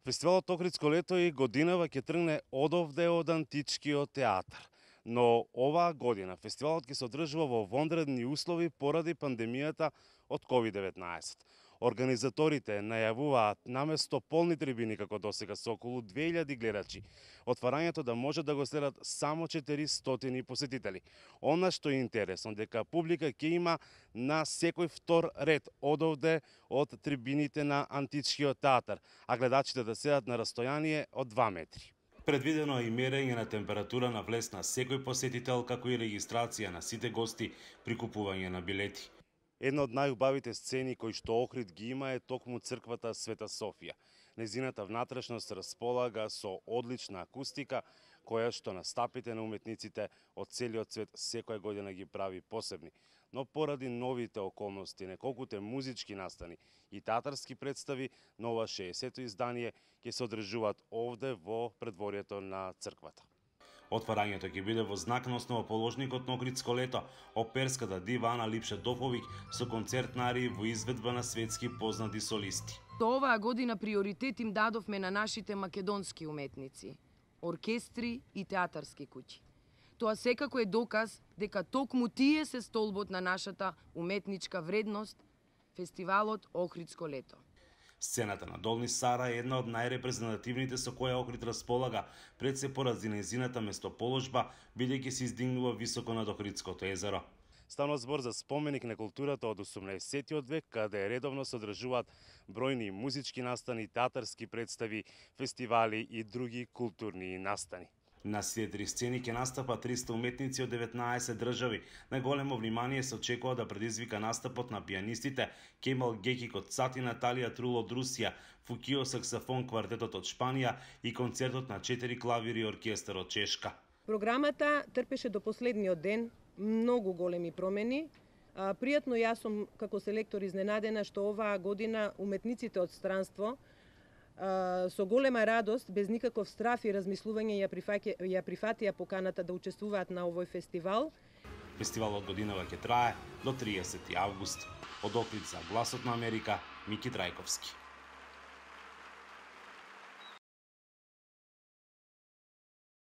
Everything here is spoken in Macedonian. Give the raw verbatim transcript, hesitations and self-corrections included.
Фестивалот Охридско лето и годинава ќе тргне одовде од античкиот театар. Но оваа година фестивалот ќе се одржува во вонредни услови поради пандемијата од ковид деветнаесет. Организаторите најавуваат наместо полни трибини како досега со околу две илјади гледачи, отварањето да може да го следат само четиристотини посетители. Она што е интересно дека публика ќе има на секој втор ред одовде од трибините на античкиот театар, а гледачите да седат на растојание од два метри. Предвидено е и мерење на температура на влез на секој посетител, како и регистрација на сите гости при купување на билети. Една од најубавите сцени кои што Охрид ги има е токму црквата Света Софија. Незината внатрешност располага со одлична акустика, која што на стапите на уметниците од целиот свет секоја година ги прави посебни. Но поради новите околности, неколкуте музички настани и театарски представи, на ова шеесето издание ќе се одржуваат овде во предворието на црквата. Отварањето ќе биде во знак на основоположникот на Охридско лето, оперската дива Ана Липше-Доповиќ со концертна арија во изведба на светски познати солисти. Оваа година приоритет им дадовме на нашите македонски уметници, оркестри и театарски куќи. Тоа секако е доказ дека токму тие се столбот на нашата уметничка вредност, фестивалот Охридско лето. Сцената на Долни Сара е една од најрепрезентативните со која Охрид располага, пред се поради нејзината местоположба, бидејќи се издигнува високо над Охридското езеро. Станува збор за споменик на културата од осумнаесеттиот век, каде редовно се одржуваат бројни музички настани, театарски представи, фестивали и други културни настани. На сите три сцени ќе настапат триста уметници од деветнаесет држави. Најголемо внимание се очекува да предизвика настапот на пианистите Кемал Гекик од Цати, Наталија Трул од Русија, Фукио саксофон квартетот од Шпанија и концертот на четири клавири и оркестар од Чешка. Програмата трпеше до последниот ден многу големи промени. Пријатно јас сум како селектор изненадена што оваа година уметниците од странство со голема радост, без никаков страф и размислување ја, прифаќа, ја прифатија поканата да учествуваат на овој фестивал. Фестивалот годинава ќе трае до триесети август. Од Охрид за Гласот на Америка, Мики Трајковски.